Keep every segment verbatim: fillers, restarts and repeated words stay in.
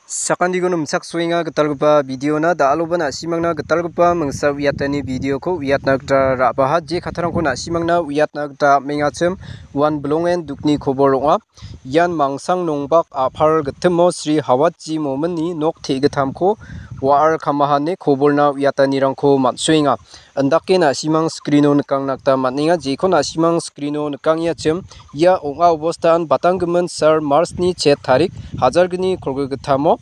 Sakantiko nimchaksoenga gitalgipa videona, da·aloba na·simangna gitalgipa mingsa uiatani videoko uiatna gita ra·baha. Je kattarangko na·simangna uiatna gita am·engachim, uan bilongen dukni kobor ong·a. Ian Mangsang Nongbak a·pal gitimo Sri Hawatji Mominni nok te·gittamko wa·ar kamahane koborna uiatanirangko man·soenga. Indake na·simang screeno nikangna gita man·enga. Jeko na·simang screeno nikangengachiim, ia ong·a obostan batanggimin sal Marchni chet tarik hajalgni kolgrigittamo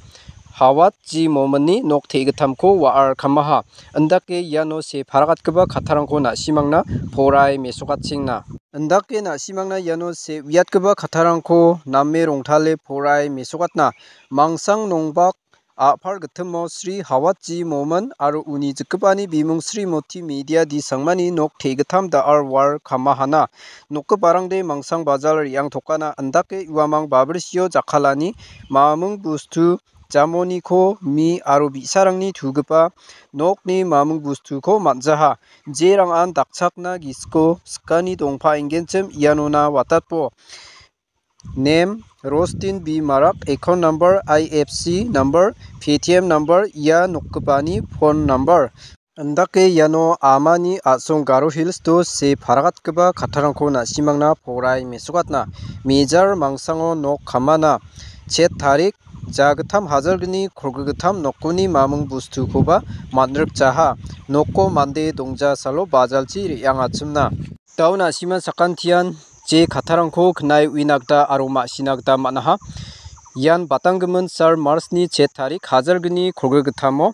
Hawatji Mominni nok te·gittamko wa·ar kamaha. Indake iano see paragatgipa kattarangko na·simangna poraie mesokatchengna. Indake na·simangna iano see uiatgipa kattarangko name rongtale poraie mesokatna. Mangsang Nongbak a·pal gitimo Sri Hawatji Momin aro uni jikgipani bimung Srimoti Media D. Sangmani nok te·gittam da·al wa·ar kamahana. Nokgiparangde Mangsang Bajal re·angtokana, indake uamang babrisio jakkalani mamung bostu jamoniko mi aro bi·sarangni tugipa nokni mamung bostuko man·jaha. Jerangan dakchakna gisiko sikani dongpaenggenchim ianona watatbo. Nem, Rostin B. Marak, account number, I F C number, P T M number, ia nokgipani phone number. Indake iano amani a·song Garo Hills-o see paragatgipa kattarangko na·simangna poraie mesokatna. Mejar Mangsango nok kamana. Chet tarik, jagittam hajalgni kolgrigittam nokoni mamung bostukoba man·rikjaha. Noko mande dongjasalo bajalchi re·angachimna. Da·o na·sima sakantian je kattarangko knae uina gita aro ma·sina gita man·aha. Ian batanggimin sal Marchni chet tarik hajalgni kolgrigittamo.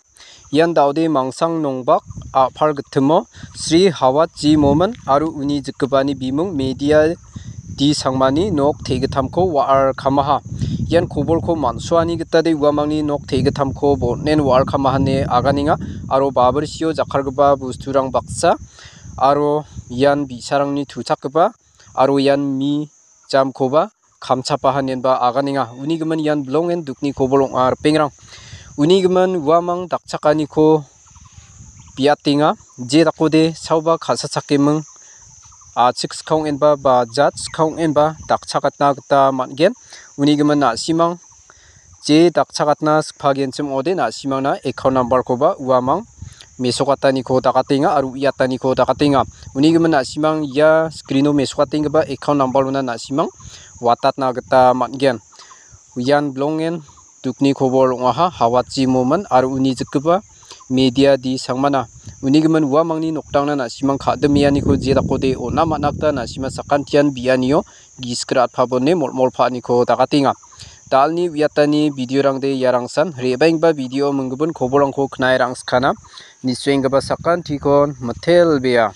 Ian da·ode Mangsang Nongbak a·pal gitimo Sri Hawatji Momin aro uni jikgipani bimung Media D. Sangmani nok te·gittamko wa·ar kamaha. Ian kobolko man·soani gitade uamangni nok te·gittamko bon·en wa·ar kamahane aganenga aro babrisio jakkalgipa bosturang baksa aro ian bi·sarangni tuchakgipa aro ian mi jamkoba kamchapaha inenba aganenga. Uni gimin ian bilongen dukni kobor ong·a ripengrang. Uni gimin uamang dakchakaniko biatenga. Je dakode saoba ka·sachakeming, a·chik skang ong·enba ba jat skang ong·enba dakchakatna gita man·gen. Uni gimin na·simang je dakchakatna sikpagenchim ong·ode na·simangna account number-koba uamang mesokataniko dakatenga aro uiataniko dakatenga. Uni gimin na·simang ia screen-o mesokatenggipa account number-ona na·simang watatna gita man·gen. Ian bilongen dukni kobor ong·aha, Hawatji Momin aro uni jikgipa Media D. Sangmana. Uni gimin uamangni nokdangna na·simang ka·dimeaniko je dakode on·a man·a gita na·sima sakantian bianio gisik ra·atpabone molmolpa·aniko dakatenga. Da·alni uiatani video-rangde iarangsan, re·baenggipa video minggipin kobolrangko knae rangskana. Nisoenggipa sakantikon mitelbea.